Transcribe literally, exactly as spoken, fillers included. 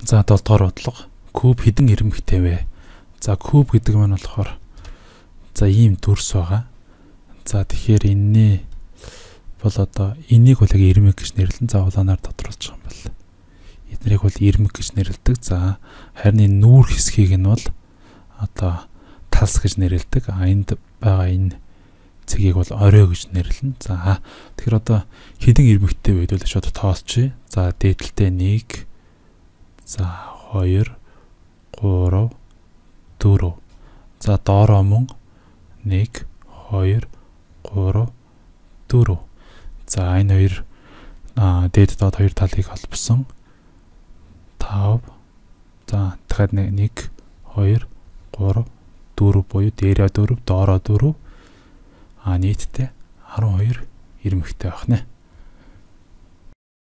За долдугаар бодлого. Куб хэдэн ирмэгтэй вэ? За куб гэдэг маань болохоор за ийм дүрс байгаа. За тэгэхээр энэний бол одоо энийг бол яг ирмэг гэж нэрлэн за улаанаар тодруулж байгаа юм байна. Эднэрийг бол ирмэг гэж нэрлэдэг. За харин энэ нүүр хэсгийг нь бол одоо талс гэж нэрлэдэг. А энд байгаа энэ цэгийг бол орой гэж нэрлэнэ. За тэгэхээр одоо хэдэн ирмэгтэй вэ гэдээ шууд тоосчий. За дээдэлтэй нэг, за хоёр, гурав, дөрөв. За доороо мөн нэг, хоёр, гурав, дөрөв. За энэ хоёр дээд доод хоёр талыг холбосон тав. За дахиад нэг, хоёр, гурав, дөрөв буюу дээрээ дөрөв, доороо дөрөв. А нийтдээ арван хоёр ирмэгтэй байх нэ.